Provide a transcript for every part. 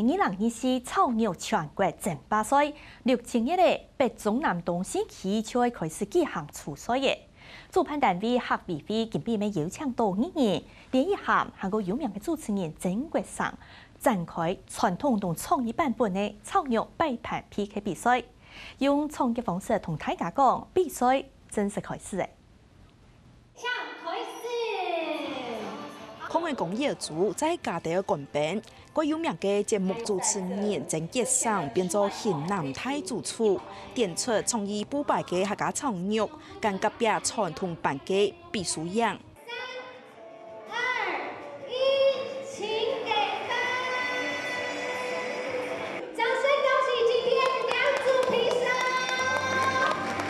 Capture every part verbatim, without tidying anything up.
二零二四草肉全國爭霸賽，六七月个北中南東四區就會開始舉行初賽了。主辦單位客委會今晡日邀請到藝人連奕涵還過有名个主持人曾國城，展開傳統同創意版本个草肉擺盤P K比賽，用創意方式同大家講，比賽正式開始了。 開始。康樂公園組在加德个官兵，蓋有名个節目主持人曾傑生變做型男大主廚，展出創意布擺个客家草肉，跟隔壁傳統版个比輸贏。三、二、一，請點燈。掌聲恭喜今天兩組評審。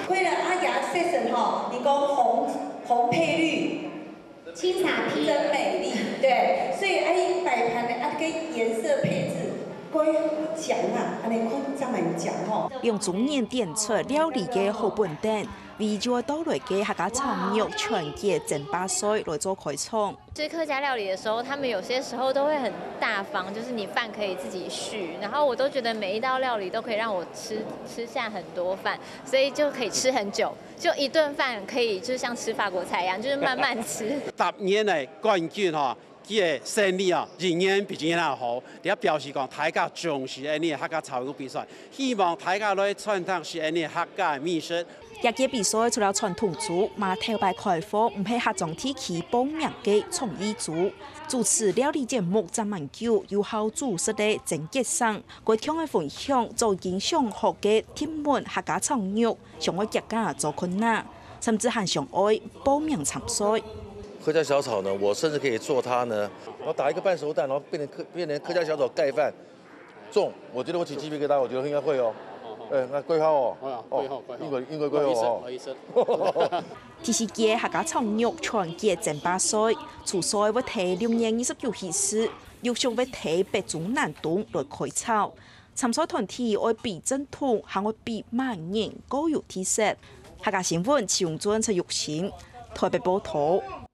看了阿雅section吼，你講紅紅配綠，青茶P。真美麗，對，所以哎，擺盤的啊，跟顏色配置，該講啊，安尼看正來講吼。用中年展出料理个好本等，為就愛到來个客家草肉全國爭霸賽來做開場。吃客家料理的時候，他们有些时候都会很大方，就是你饭可以自己续，然后我都觉得每一道料理都可以让我吃吃下很多饭，所以就可以吃很久，就一顿饭可以就像吃法国菜一样，就是慢慢吃。十年个冠军吼，佢个生理哦，一年比一年好，也表示讲大家重視安尼个客家草肉比赛，希望大家来传承是安尼个客家美食。 這屆比賽除了傳統組，嘛頭擺開放毋係客庄地區報名个創意組。主持料理節目站蠻久，有效主食个曾傑生，過暢个分享早已經想好个甜燜客家炒肉，想愛自家做看哪，甚至還想愛報名參賽。客家小炒呢，我甚至可以做它呢，我打一个半熟蛋，然后变成客变成客家小炒盖饭，中，我觉得我起鸡皮疙瘩，我觉得应该会哦。哎，那贵号哦，哦，贵号贵号，应该应该贵号哦。不好意思，不好意思。第四屆客家炒肉全國爭霸賽，初賽會在六月二十九起始，陸續會在北中南東來開炒。參賽團體愛比正統，還愛比麼人較有特色。客家新聞徐永尊、陳玉成，台北報導。